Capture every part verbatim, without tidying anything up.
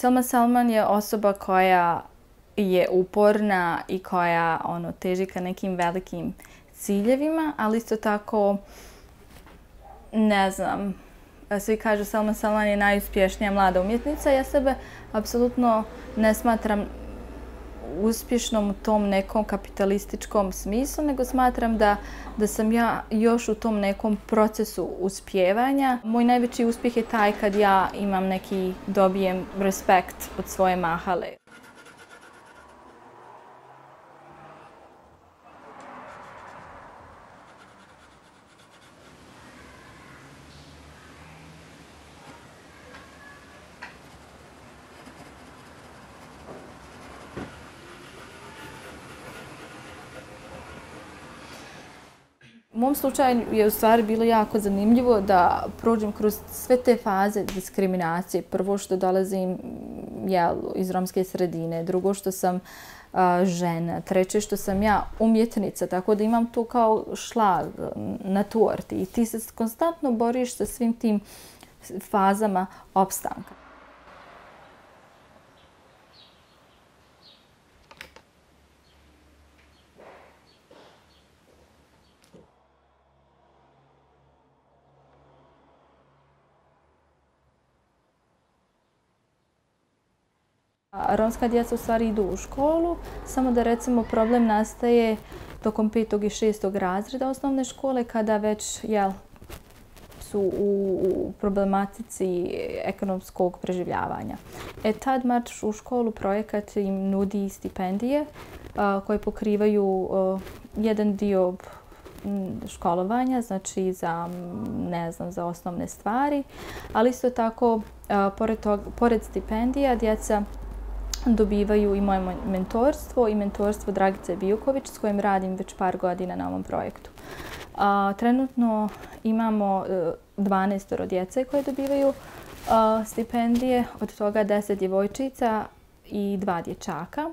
Selma Salman je osoba koja je uporna i koja ono, teži ka nekim velikim ciljevima, ali isto tako, ne znam, svi kažu Selma Salman je najuspješnija mlada umjetnica. Ja sebe apsolutno ne smatram uspješnom u tom nekom kapitalističkom smislu, nego smatram da, da sam ja još u tom nekom procesu uspijevanja. Moj najveći uspjeh je taj kad ja imam neki, dobijem respekt od svoje mahale. U mom slučaju je u stvari bilo jako zanimljivo da prođem kroz sve te faze diskriminacije. Prvo što dolazim ja, iz romske sredine, drugo što sam a, žena, treće što sam ja umjetnica, tako da imam tu kao šlag na torti i ti se konstantno boriš sa svim tim fazama opstanka. Romska djeca u stvari idu u školu, samo da recimo problem nastaje tokom petog i šestog razreda osnovne škole kada već jel, su u, u problematici ekonomskog preživljavanja. E tad Marš u školu projekat im nudi stipendije a, koje pokrivaju a, jedan dio školovanja, znači za, ne znam, za osnovne stvari, ali isto tako a, pored, tog, pored stipendija djeca dobivaju i moje mentorstvo i mentorstvo Dragice Bijuković s kojim radim već par godina na ovom projektu. A, trenutno imamo dvanaest djece koje dobivaju a, stipendije, od toga deset djevojčica i dva dječaka.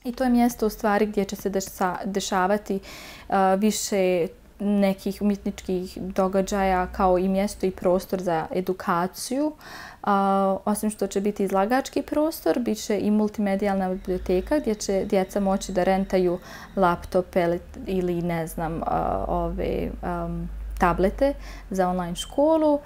I to je mjesto u stvari gdje će se dešavati uh, više nekih umjetničkih događaja kao i mjesto i prostor za edukaciju. Uh, osim što će biti izlagački prostor, bit će i multimedijalna biblioteka gdje će djeca moći da rentaju laptope ili ne znam, uh, ove um, tablete za online školu.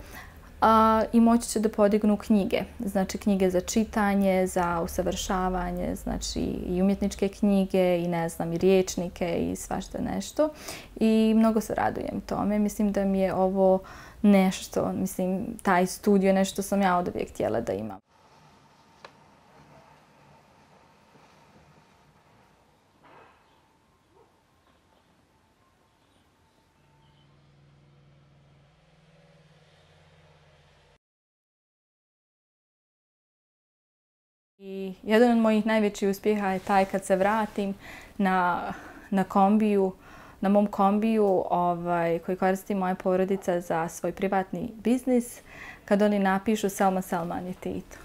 A, i moći će da podignu knjige, znači knjige za čitanje, za usavršavanje, znači i umjetničke knjige i ne znam i riječnike i svašta nešto. I mnogo se radujem tome. Mislim da mi je ovo nešto, mislim taj studio je nešto sam ja oduvijek htjela da imam. I jedan od mojih najvećih uspjeha je taj kad se vratim na, na kombiju, na mom kombiju ovaj, koji koristi moja porodica za svoj privatni biznis, kad oni napišu Selma Salman je Tito.